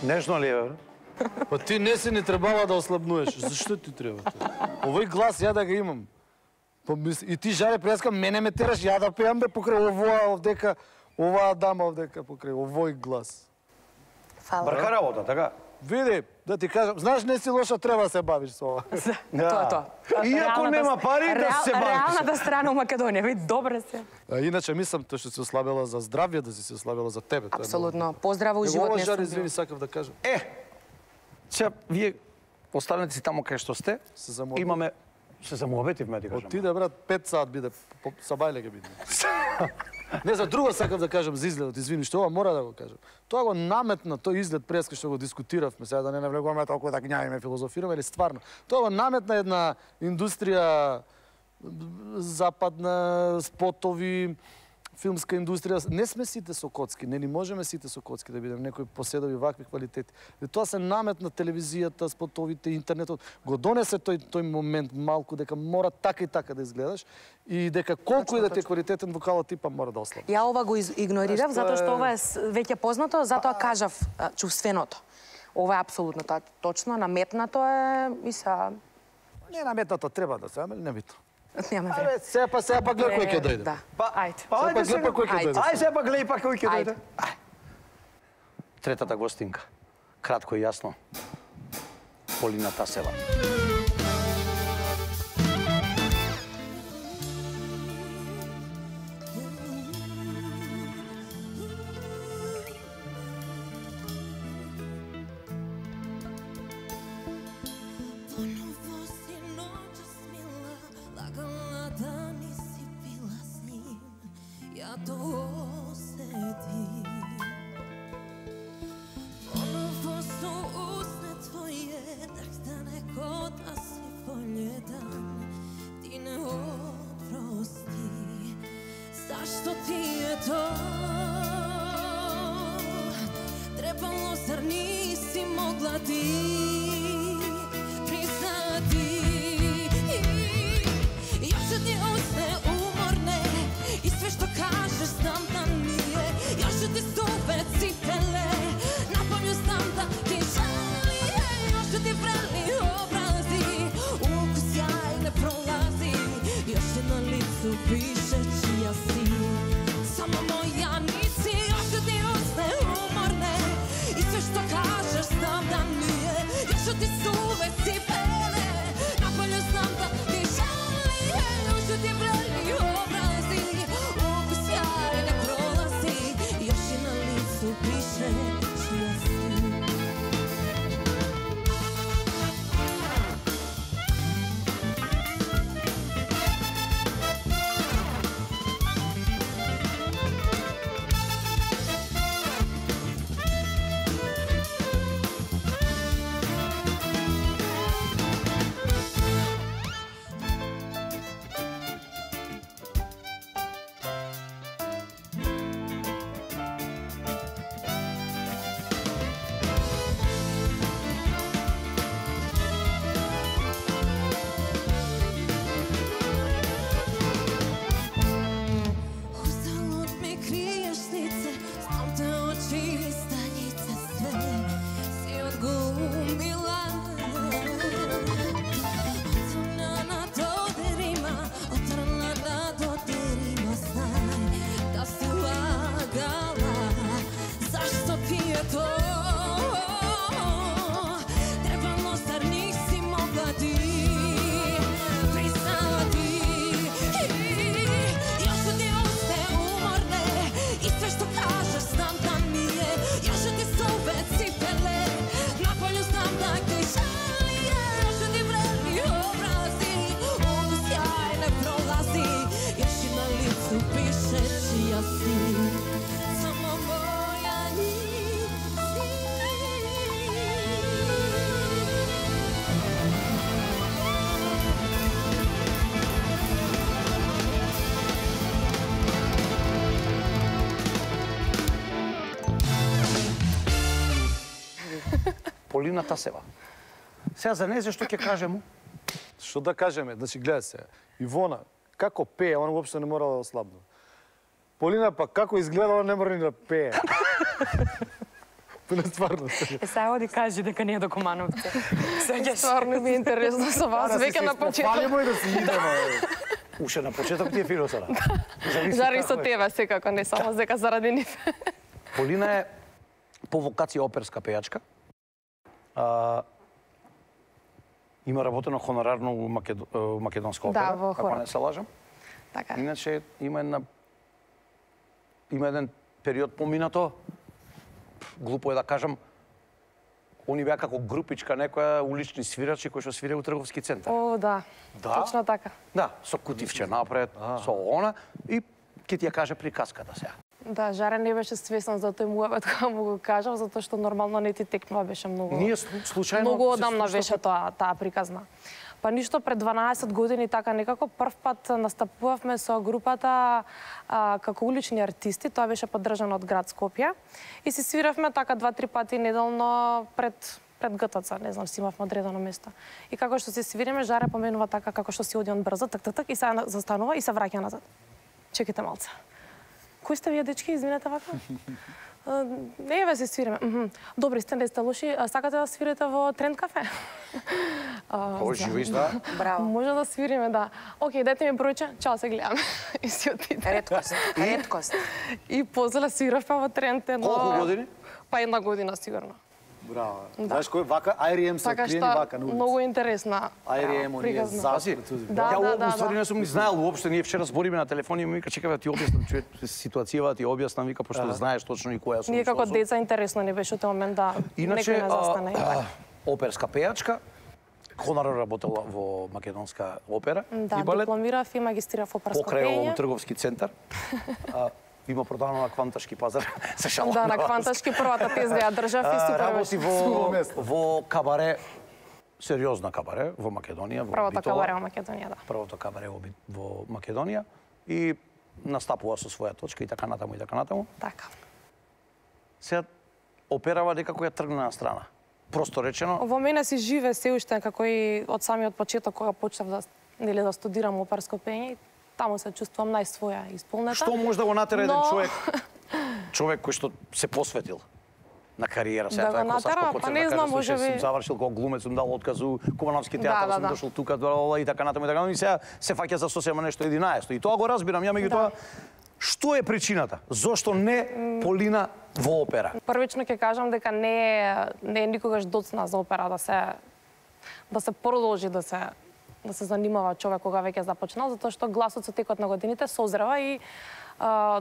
Speaker 2: Нежно ли е, бе?
Speaker 3: Па ти не си не требала да ослабнуеш. Зашто ти треба тоа? Овој глас ја да го имам. И ти жаре преска мене ме тераш ја да пеам бе покрај оваа дама овдека покрај овој глас.
Speaker 4: Фала.
Speaker 2: Брка работа, така?
Speaker 3: Види, да ти кажам, знаеш не си лоша, треба да се бавиш со ова.
Speaker 4: Тоа е тоа.
Speaker 2: Иако нема пари, да се бавиш.
Speaker 4: Реалната страна у Македонија, ви добре се.
Speaker 3: А иначе мислам тоа што се ослабела за здравје, да си се ослабела за тебе. Тоа е
Speaker 4: Апсолутно. Поздраво у живот
Speaker 3: ова
Speaker 4: не
Speaker 3: жар,
Speaker 4: сум.
Speaker 3: извини, сакав да кажам.
Speaker 2: Сега, вие останете си таму кај што сте.
Speaker 3: Се замуабетивме.
Speaker 2: Имаме... Се замуабетивме, ти кажам.
Speaker 3: Отиде, брат, 5 сат биде, сабајле ке биде. Не, за друго сакав да кажам за изгледот, извини, што ова мора да го кажам. Тоа го наметна, тој изглед преска што го дискутиравме, сега да не навлегуваме толку да гњавиме, филозофираме, или стварно. Тоа го наметна една индустрија западна, спотови, филмска индустрија. Не сме сите со коцки, не ни можеме сите со коцки да бидеме, некои поседови вакви квалитети. И тоа се наметна телевизијата, спотовите, интернетот. Го донесе тој момент малку дека мора така и така да изгледаш и дека колку и да ти е квалитетен вокалот типа мора да ослабиш.
Speaker 4: Ја ова го игнорирав затоа што ова е веќе познато, затоа кажав чувственото. Ова е апсолутно точно, наметнато е и са...
Speaker 3: Не наметнато треба да се, ама не битно.
Speaker 4: Нема време.
Speaker 3: Абе, сега па гледа кој ќе дојде.
Speaker 4: Да. Ајде.
Speaker 3: Сега па гледа па кој ќе дојде.
Speaker 2: Ајде сега па гледај па кој ќе
Speaker 4: Ајде.
Speaker 2: дојде. Третата гостинка. Кратко и јасно. Полина Тасева.
Speaker 5: Ти не опрости. Зашто ти е тоа? Требало, зар ниси могла ти? Признати. Јас ти усне уморне и све што кажеш знам да nije. Јас ти суве ципеле, напомню знам да ти жали. Јас ти врели образи, укус јај не пролази. Јас на лицу пише чија си, само моја ниси. Јас ти усне уморне и све што кажеш знам да nije. Јас ти суве ципеле, напомню знам да ти жали. Јас ти врели образи, укус јај не пролази. Јас на лицу пише чија си. Усталот ми криеш лице, знам те очи и станице све си одгумила. Отрна на додерима, отрна на додерима, знај да си лагала. Зашто ти е тоа? Требало, зар ниси могла ти? Признати. Јас ти усне уморне и све што кажеш знам да nije. Јас ти суве ципеле, наполju знам да ти жали. Јас ти врели образи, укус јај не пролази. Јас на лицу пише чија си, само моја ниси.
Speaker 2: Полина Тасева. Сега за незе што ќе кажемо?
Speaker 3: Што да кажеме? Значи, гледај се. Ивона, како пее, она уопште не мора да ослабне. Полина па како изгледа, не мора ни да пее. Не стварно.
Speaker 4: Сега оди кажи дека не е до Комановци.
Speaker 6: Стварно ми е интересно со вас, веќе на почеток.
Speaker 3: Палимо и да си идемо.
Speaker 2: Уште на почеток ти е фино сега.
Speaker 6: Заради со тебе секако, не само дека заради нив.
Speaker 2: Полина е по вокација оперска пејачка. Има работено хонорарно у македонска опера,
Speaker 6: во
Speaker 2: ако
Speaker 6: хорот.
Speaker 2: не се лажам.
Speaker 6: Така.
Speaker 2: Иначе има еден период поминато, глупо е да кажам, они беа како групичка некоја улични свирачи кои што свиреа у трговски центар.
Speaker 6: О, да.
Speaker 2: Да?
Speaker 6: Точно така.
Speaker 2: Да, со кутивче напред, со она и ќе ти ја каже приказката сега.
Speaker 6: Да, Жаре не беше свесен за тој муабет кога му го кажав, затоа што нормално не ти текнува, беше многу.
Speaker 2: Ние случајно
Speaker 6: Многу
Speaker 2: се
Speaker 6: одамна
Speaker 2: слушнавме-
Speaker 6: беше таа приказна. Па ништо, пред 12 години така некако прв пат настапувавме со групата како улични артисти, тоа беше поддржано од град Скопје и си свиравме така 2-3 пати неделно пред ГТЦ, не знам, си имавме одредено место. И како што се свириме, Жаре поменува така како што си оди он брзо, так и се застанува и се враќа назад. Чекайте малце. Кои сте вие дечки, извинете вака? Еве се свириме. Добри сте, не сте лоши. Сакате да свирите во Тренд кафе?
Speaker 2: О, живи да.
Speaker 4: Браво.
Speaker 6: Може да свириме, да. Океј, дайте ми бројче, чао, се гледаме. И си отиде.
Speaker 4: Редкост. Редкост.
Speaker 6: И после свиравме во Тренд едно...
Speaker 2: Колку години?
Speaker 6: Па 1 година сигурно.
Speaker 3: Браво. Знаеш кој вака IRM се
Speaker 6: Така
Speaker 3: откриени
Speaker 6: што
Speaker 3: вака на улица.
Speaker 6: многу интересна.
Speaker 3: IRM оние
Speaker 6: приказна.
Speaker 3: засад.
Speaker 6: Да,
Speaker 2: Ја
Speaker 6: да,
Speaker 2: уствари
Speaker 6: да.
Speaker 2: не сум ни знаел уопште, ние вчера збориме на телефон и ми вика чекај да ти објаснам ситуацијава, ти објаснам вика пошто знаеш точно и која сум.
Speaker 6: Ние
Speaker 2: што
Speaker 6: како
Speaker 2: сум.
Speaker 6: деца интересно ни беше тој момент да
Speaker 2: Иначе
Speaker 6: некој не застане.
Speaker 2: оперска пејачка, хонорарно работела во македонска опера
Speaker 6: Да,
Speaker 2: и балет,
Speaker 6: дипломирав и магистрирав оперско
Speaker 2: покрај
Speaker 6: пење.
Speaker 2: овој трговски центар. Има продано на Кванташки пазар. Се шалам.
Speaker 6: Да, на Кванташки првата тезга ја држав и супер
Speaker 2: Работи
Speaker 6: беше.
Speaker 2: во кабаре, сериозна кабаре во Македонија, во
Speaker 6: Првото
Speaker 2: Битола.
Speaker 6: кабаре во Македонија, да.
Speaker 2: Првото кабаре во Македонија и настапува со своја точка и така натаму и така натаму.
Speaker 6: Така.
Speaker 2: Сега операва некако ја тргна на страна. Просто речено,
Speaker 6: Во мене си живе се уште како и од самиот почеток кога почнав да студирам оперско пење, таму се чувствувам најсвоја исполнета.
Speaker 2: што може да го натера еден
Speaker 6: Но-
Speaker 2: човек кој што се посветил на кариера, сега
Speaker 6: Да
Speaker 2: тоа е
Speaker 6: го
Speaker 2: како Сашко
Speaker 6: натера,
Speaker 2: Коцев,
Speaker 6: па не
Speaker 2: да
Speaker 6: знам,
Speaker 2: каже, слушај,
Speaker 6: можеби-
Speaker 2: сум завршил како глумец, сум дал отказ у Кумановски театар, сум
Speaker 6: да.
Speaker 2: дошол тука и така натаму и така натаму и сега се фаќа за сосема нешто 11. И тоа го разбирам, ја меѓутоа што е причината? Зошто не Полина во опера?
Speaker 6: Првично ќе кажам дека не е никогаш доцна за опера да се продолжи да се занимава човек кога веќе започнал, затоа што гласот со текот на годините созрева и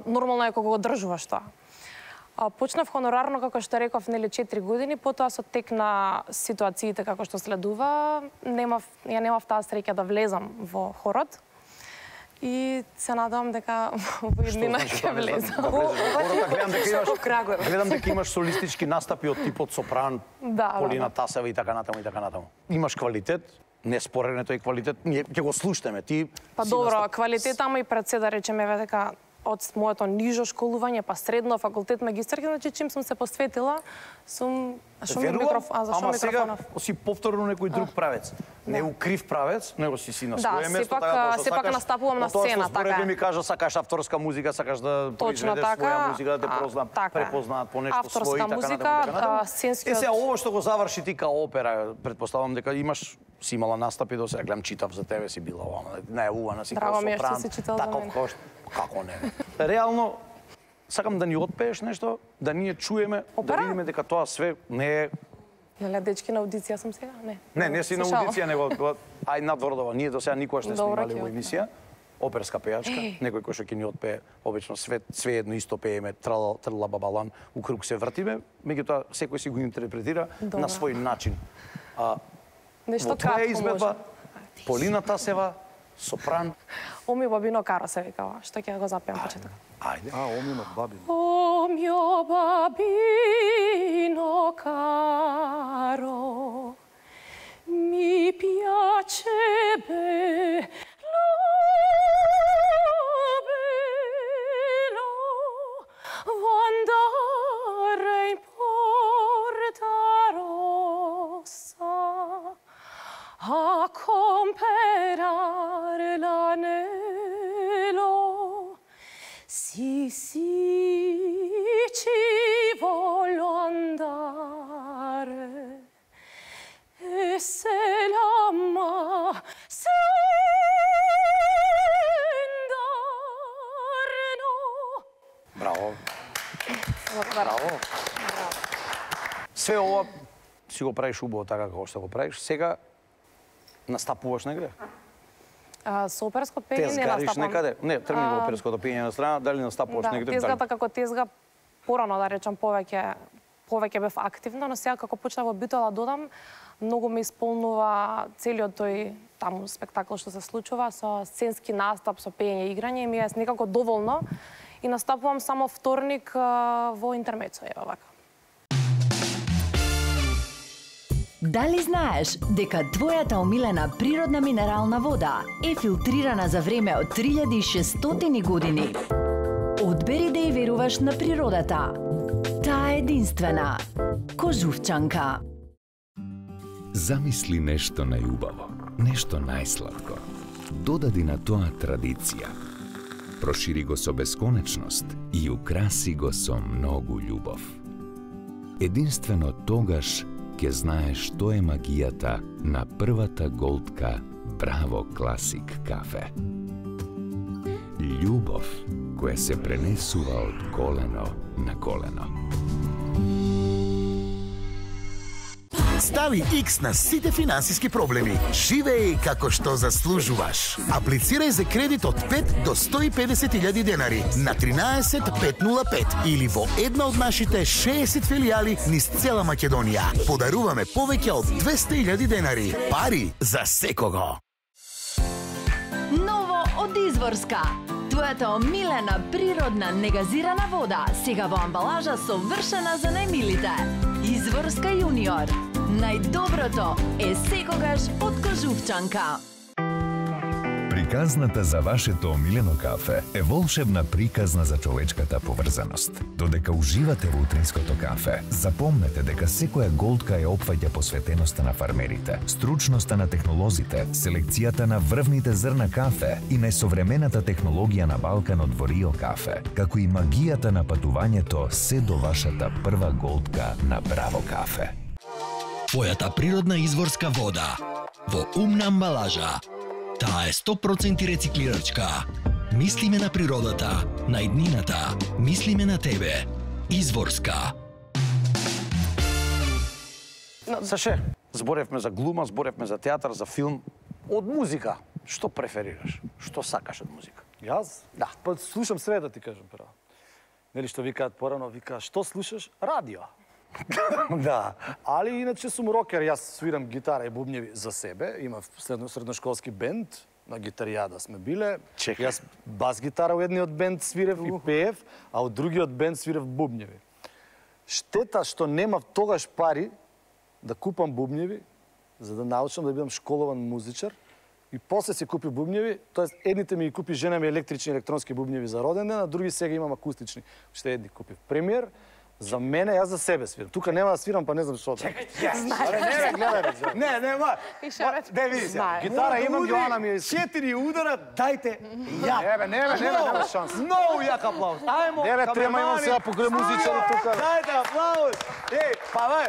Speaker 6: нормално е кога го одржуваш тоа. Почнав хонорарно, како што реков, 4 години, потоа со тек на ситуациите како што следува, ја немав таа среќа да влезам во хорот. И се надевам дека во иднина ќе влезам.
Speaker 2: Гледам дека имаш солистички настапи од типот сопран, Полина Тасева и така натаму и така натаму. Имаш квалитет, неспорен е тој квалитет, ние ќе го слушнеме. Ти
Speaker 6: Па добро, квалитет, ама и пред се да речеме дека од моето нижо школување, па средно, факултет, магистарки, значи чим сум се посветила, сум... Зашо ми микрофонов?
Speaker 2: ама сега си повторно некој друг правец. Не у крив правец, него си на свое место,
Speaker 6: сепак настапувам на сцена, така
Speaker 2: Тоа
Speaker 6: е.
Speaker 2: ми кажа, сакаш авторска музика, сакаш да произведеш своја музика, да те препознаат по нешто свој и така натаму.
Speaker 6: сценскиот...
Speaker 2: Сега ово што го заврши ти као опера, предпоставам дека си имала настапи до сега, гледам, читав за тебе, си била оваа, најавувана си као
Speaker 6: Драго ми е што
Speaker 2: сопран.
Speaker 6: си читал за мене.
Speaker 2: Како не? Реално, сакам да ни отпееш нешто, да ние чуеме, да видиме дека тоа све не е...
Speaker 6: Неле, дечки, на аудиција сум сега?
Speaker 2: Не си на аудиција, него ај надвордова. Ние до сега никогаш не сме
Speaker 6: Добро,
Speaker 2: имали во емисија. Оперска пејачка, некој кој што ќе ни отпее, обично све едно исто пееме, трла бабалан, у круг се вртиме, меѓутоа секој си го интерпретира на свој начин.
Speaker 6: Нешто
Speaker 2: Во твоја
Speaker 6: кратко
Speaker 2: изvedба,
Speaker 6: може.
Speaker 2: Полина Тасева, сопран.
Speaker 6: Оми бабино каро се викава, што ќе го запеам почеток.
Speaker 2: Ајде.
Speaker 3: Омино бабино.
Speaker 6: O mio bambino caro, mi piace bello, bello, andare in Porta Rossa a comprare l'anello. Sì, ci voglio andare e se l'amma se
Speaker 2: Браво. Браво. Све ова си го правиш убаво така како што го правиш. Сега настапуваш негде?
Speaker 6: Со оперско
Speaker 2: Те
Speaker 6: пење не
Speaker 2: згариш
Speaker 6: настапам.
Speaker 2: некаде? Не, тргни во оперското пење на страна, дали настапуваш негде?
Speaker 6: Тезгата како тезга порано да речам повеќе бев активна, но сега како почнав во битола додам, многу ме исполнува целиот тој таму спектакл што се случува со сценски настап, со пење и играње, ми е некако доволно и настапувам само вторник во интермецо, ева вака.
Speaker 7: Дали знаеш дека твојата омилена природна минерална вода е филтрирана за време од 3600 години? Одбери да ја веруваш на природата. Таа е единствена. Кожувчанка.
Speaker 8: Замисли нешто најубаво, нешто најсладко. Додади на тоа традиција. Прошири го со бесконечност и украси го со многу љубов. Единствено тогаш ќе знаеш што е магијата на првата голтка Браво Класик кафе. Љубов која се пренесува од колено на колено.
Speaker 9: Стави X на сите финансиски проблеми. Живеј како што заслужуваш. Аплицирај за кредит од 5 до 150.000 денари на 13505 или во една од нашите 60 филијали низ цела Македонија. Подаруваме повеќе од 200.000 денари. Пари за секого.
Speaker 7: Ново од Изворска. Твојата омилена природна негазирана вода сега во амбалажа совршена за најмилите. Изворска јуниор. Најдоброто е секогаш од Кожувчанка.
Speaker 10: При
Speaker 8: Приказната за вашето омилено кафе е волшебна приказна за човечката поврзаност. Додека уживате во утринското кафе, запомнете дека секоја голтка ја опфаќа посветеноста на фармерите, стручноста на технолозите, селекцијата на врвните зрна кафе и најсовремената технологија на Балканот во Рио кафе, како и магијата на патувањето се до вашата прва голтка на Браво кафе.
Speaker 10: Твојата природна изворска вода во умна амбалажа. Таа е 100% рециклирачка. Мислиме на природата, на иднината, мислиме на тебе. Изворска.
Speaker 2: Саше, зборевме за глума, зборевме за театар, за филм. Од музика, што преферираш? Што сакаш од музика?
Speaker 3: Јас?
Speaker 2: Да.
Speaker 3: Па слушам све, да ти кажам право. Нели што викаат порано, викаа што слушаш? Радио.
Speaker 2: Да.
Speaker 3: Али иначе сум рокер, јас свирам гитара и бубњеви за себе. Имав средношколски бенд, на гитаријада сме биле.
Speaker 2: Чекај.
Speaker 3: Јас бас гитара у едниот бенд свирев и пеев, а у другиот бенд свирев бубњеви. Штета што немав тогаш пари да купам бубњеви, за да научам да бидам школован музичар. И после си купи бубњеви, тоест едните ми ги купи жена ми електрични електронски бубњеви за роден ден, а други сега имам акустични. Уште едни купив. Премиер, за мене, јас за себе свирам. Тука нема да свирам, па не знам што.
Speaker 2: Чекај, не, гледај. Не, не, види се.
Speaker 3: Гитара имам, Јоана ми е...
Speaker 2: 4 удара, дајте ја.
Speaker 3: Нема шанс.
Speaker 2: Многу јак аплауз. Ајмо,
Speaker 3: Не, трема имам сега покрај музичари тука.
Speaker 2: Дајте аплауз. Па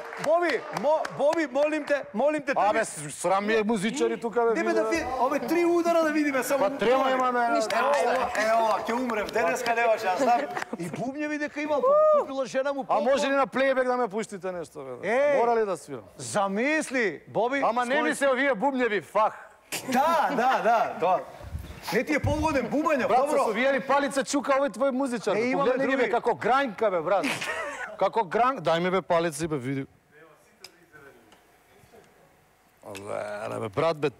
Speaker 2: Боби, молим те.
Speaker 3: Абе, срам ми е музичари тука, бе.
Speaker 2: Небе да ви, ове 3 удара да видиме само.
Speaker 3: Па трема имаме.
Speaker 2: Ево, ќе умрев, денеска нема шанс. И бубњеви дека имал, купила жена му.
Speaker 3: А може ли на плейбек да ме пуштите нешто, бе? Мора ли да свирам?
Speaker 2: Замисли, Боби.
Speaker 3: Ама не ми се овие бубњеви, фах.
Speaker 2: Да, тоа. Не ти е полгоден бубања,
Speaker 3: Брат,
Speaker 2: добро.
Speaker 3: со овие палица чука овој твој музичар.
Speaker 2: Не, имаме
Speaker 3: Погледни ги, бе,
Speaker 2: други.
Speaker 3: како гранјка, бе, брат. Како гранк, дај ми бе палици, бе, види. Бе, брат, бе.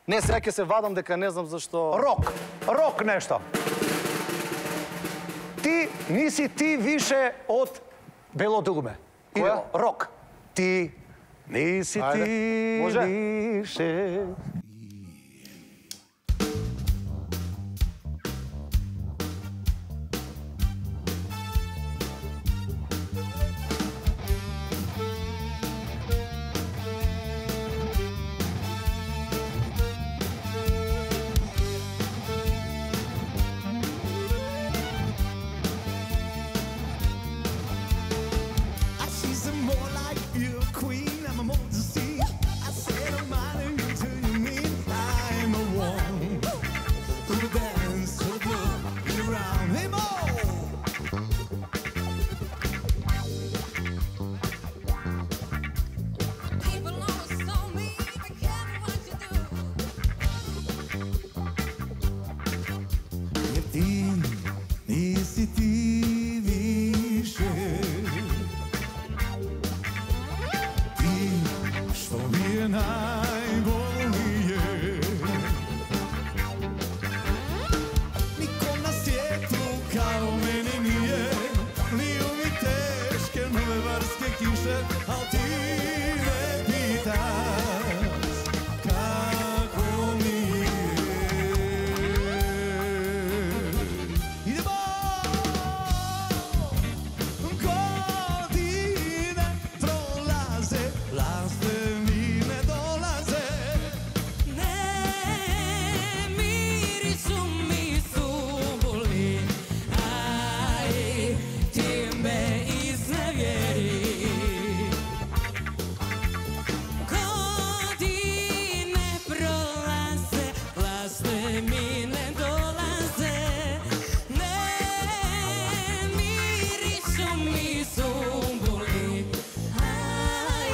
Speaker 3: Не, сега ќе се вадам дека не знам зашто...
Speaker 2: Рок нешто. Ти ниси ти више од Бело дулме.
Speaker 3: Која?
Speaker 2: Рок. Ти ниси
Speaker 3: Ајде.
Speaker 2: ти
Speaker 3: Може?
Speaker 2: више.
Speaker 1: She's more like your queen, I'm a more to see. I said I'm mine until you mean I'm a one who dance so good around him all.
Speaker 5: People always told me, be careful what you do.
Speaker 1: Ти не си ти више. Ти што ми е најболнije. Ником на свету као мене nije. Лiju mi teške novevarske kiše, al ti me pitaš kako mi je. Idemo! Godine prolaze, laste mi ne dolaze.
Speaker 5: Ne mirišu mi sumbuli, aj ti me iznevjeri. Godine prolaze, laste mi ne dolaze. Ne mirišu mi sumbuli, aj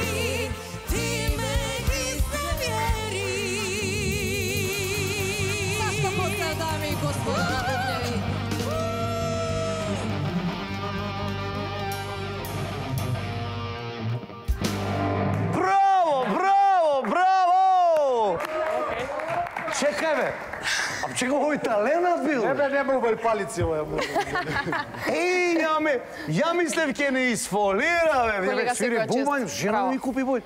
Speaker 5: ti me iznevjeri. Zašto pozdrav, dame i gospodo, na bubnjevi?
Speaker 2: Браво! Чекај бе. А чекај, овој таленат бил.
Speaker 3: Не, бе, нема убави палици, овој.
Speaker 2: Еј, ја мислев ќе не изфолира, бе.
Speaker 4: Колега,
Speaker 2: Свири
Speaker 4: секоја чест.
Speaker 2: бубањ, жена
Speaker 4: Браво.
Speaker 2: ми купи бој.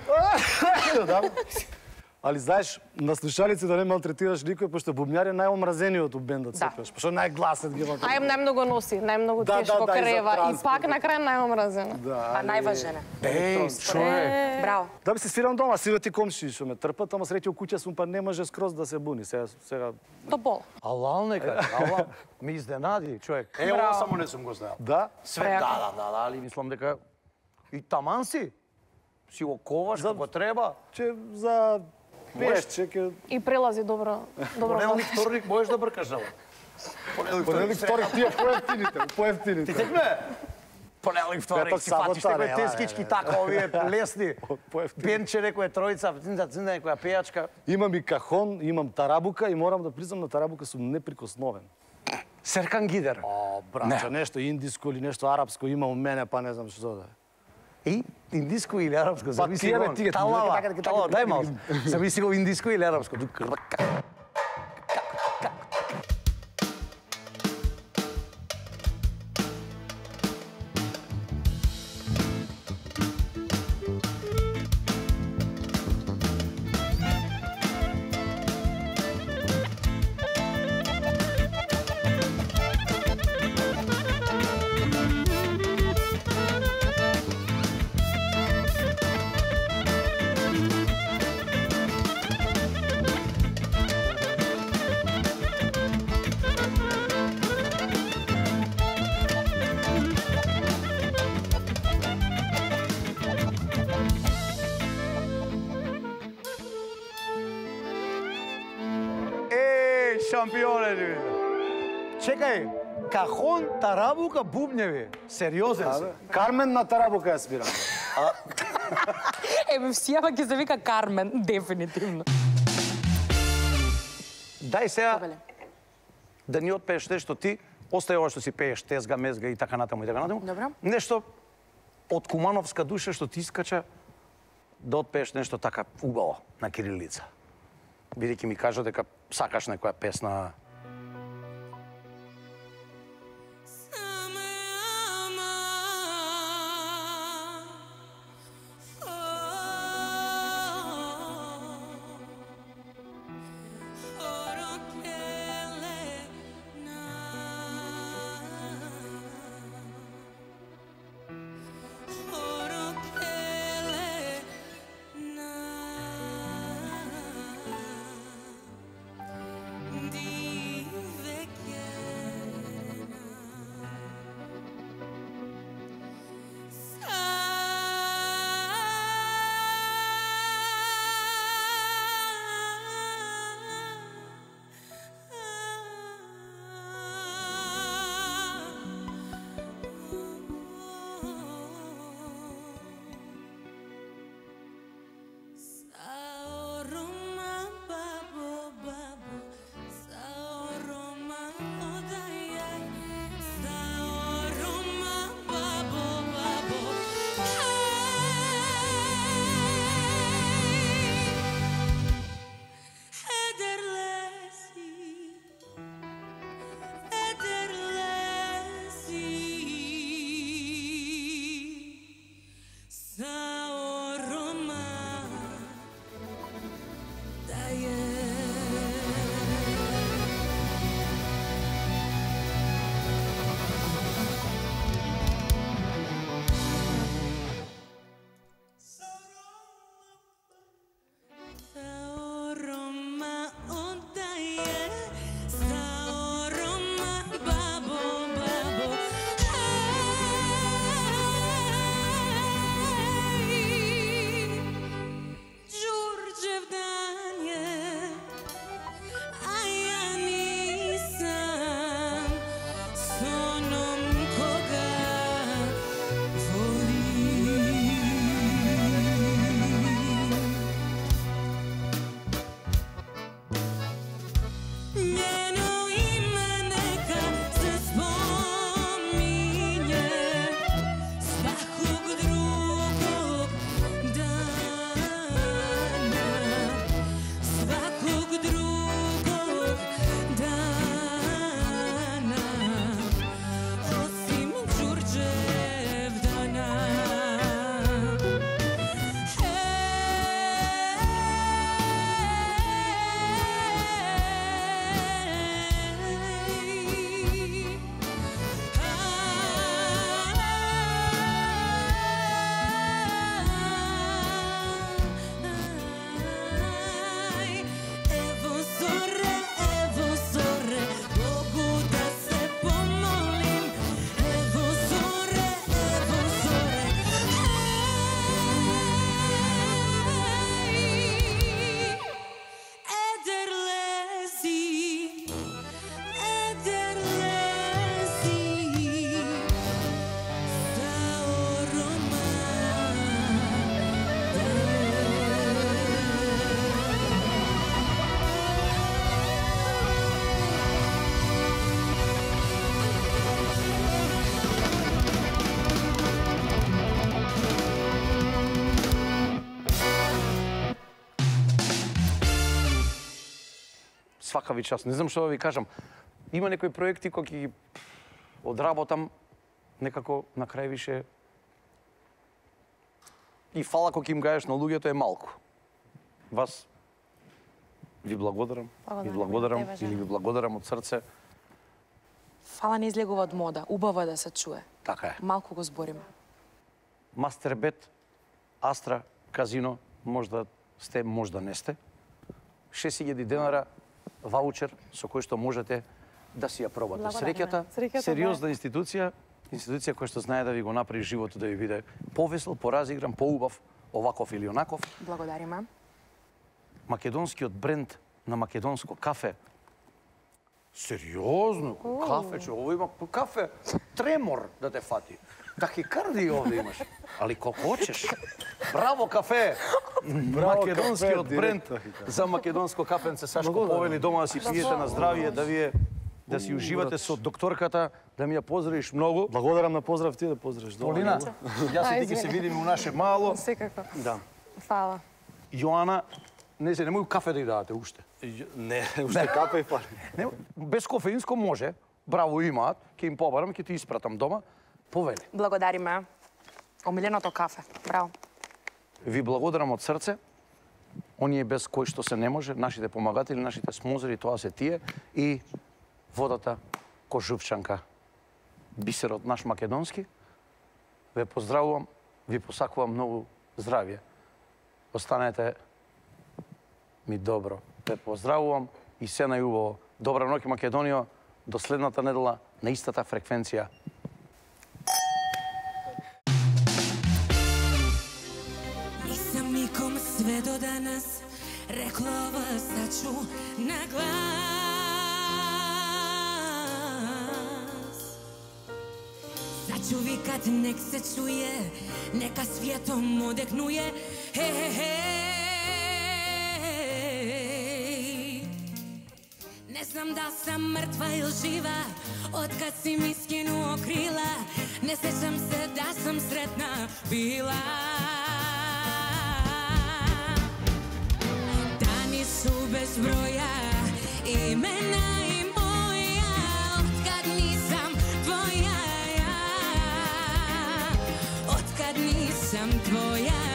Speaker 3: Али знаеш, на слушалици да не малтретираш никој, пошто бубњар е најомразениот у бендот секогаш, пошто најгласен ги има.
Speaker 6: Ај најмногу носи, најмногу
Speaker 3: Да,
Speaker 6: тешко
Speaker 3: да, и за
Speaker 6: крева и
Speaker 3: транспорт.
Speaker 6: пак на крај најомразена.
Speaker 3: Да,
Speaker 4: А најважен е.
Speaker 2: Еј, човек.
Speaker 4: Браво.
Speaker 3: Да би се свирам дома, сиве ти комши што ме трпат, ама среќа у куќа сум, па не може скроз да се буни. Сега
Speaker 6: Топол.
Speaker 2: Алал нека, алал. Ми изненади, човек. Е, ова само не сум го знаел.
Speaker 3: да.
Speaker 2: Све, да, али мислам дека и таман си го коваш како треба.
Speaker 3: Че за пешче ќе
Speaker 6: И прелази добро.
Speaker 2: Понеделник, вторник можеш да бркаш ова.
Speaker 3: понеделник, вторник тие поевтините.
Speaker 2: Ти текме? Понеделник, вторник
Speaker 3: Петок,
Speaker 2: си фатиш
Speaker 3: сабота,
Speaker 2: некои
Speaker 3: не,
Speaker 2: тескички
Speaker 3: не.
Speaker 2: така, овие лесни.
Speaker 3: Поевтини.
Speaker 2: Пенче, некоја тројца, цинда, некоја пејачка.
Speaker 3: Имам и кахон, имам тарабука и морам да признам на тарабука сум неприкосновен.
Speaker 2: Серкан Гидер.
Speaker 3: О, брача, нешто индиско или нешто арапско има у мене, па не знам што да е.
Speaker 2: И индиско или арапско, зависи
Speaker 3: тие, бе,
Speaker 2: го.
Speaker 3: тие,
Speaker 2: Талава,
Speaker 3: така,
Speaker 2: талава, дај малку. Зависи го индиско или арапско. Шампионе, видите. Чекај, кахон, тарабука, бубњеви. Сериозен си.
Speaker 3: Кармен на тарабука ја свирам.
Speaker 4: Еме, всијава ќе се вика Кармен, дефинитивно.
Speaker 2: Дај сега
Speaker 4: Повеле.
Speaker 2: да ни отпееш нешто ти, остај ова што си пееш, тезга, мезга и така натаму и така натаму.
Speaker 4: Добро.
Speaker 2: Нешто од кумановска душа што ти искача да отпееш нешто така убаво на кирилица. Бидејќи ми кажа дека сакаш некоја песна.
Speaker 5: Di
Speaker 2: лакави час. Не знам што да ви кажам. Има некои проекти кои ги одработам некако на крај више и фала кој им гаеш на луѓето е малку. Вас ви благодарам, или ви благодарам од срце.
Speaker 4: Фала не излегува од мода. Убаво е да се чуе.
Speaker 2: Така е.
Speaker 4: Малку го збориме.
Speaker 2: Мастербет, Астра, казино, можда сте, можда не сте. 6.000 денара ваучер со кој што можете да си ја пробате. Среќата, сериозна институција која што знае да ви го направи животот да ви биде повесел, поразигран, поубав, оваков или онаков.
Speaker 4: Благодариме.
Speaker 2: Македонскиот бренд на македонско кафе. Сериозно, кафе, че ово има кафе, тремор да те фати. Тахикардија овде имаш. Али колку хочеш. Браво кафе! Македонскиот бренд за македонско кафенце. Сашко повели дома да си пиете на здравие, да си уживате со докторката, да ми ја поздравиш многу.
Speaker 3: Благодарам на поздрав ти да поздравиш дома.
Speaker 2: Полина, јас и ти ќе се видиме у наше мало.
Speaker 6: Секако.
Speaker 2: Да.
Speaker 6: Фала.
Speaker 2: Јоана, немој кафе да ја дадете уште.
Speaker 3: Не, уште кафе и фали.
Speaker 2: Не, без кофеинско може. Браво имаат, ќе им побарам, ќе ти испратам дома. Повели.
Speaker 4: Благодариме. Омиленото кафе. Браво.
Speaker 2: Ви благодарам од срце. Оние без кои што се не може, нашите помагатели, нашите смозери, тоа се тие и водата Кожувчанка. Бисерот наш македонски. Ве поздравувам, ви посакувам многу здравје. Останете ми добро. Ве поздравувам и се најубаво. Добра ноќ Македонија, до следната недела на истата фреквенција.
Speaker 5: Нисам ником све до данас реклова сачу на глас. Сачу викат нек се чуе, нека светом одекнуе. Не знам да сам мртва или жива, откад си ми скинуо крила. Не сеќам се да сам сретна била. Дани су без броја, имена и моја, откад нисам твоја, откад нисам твоја.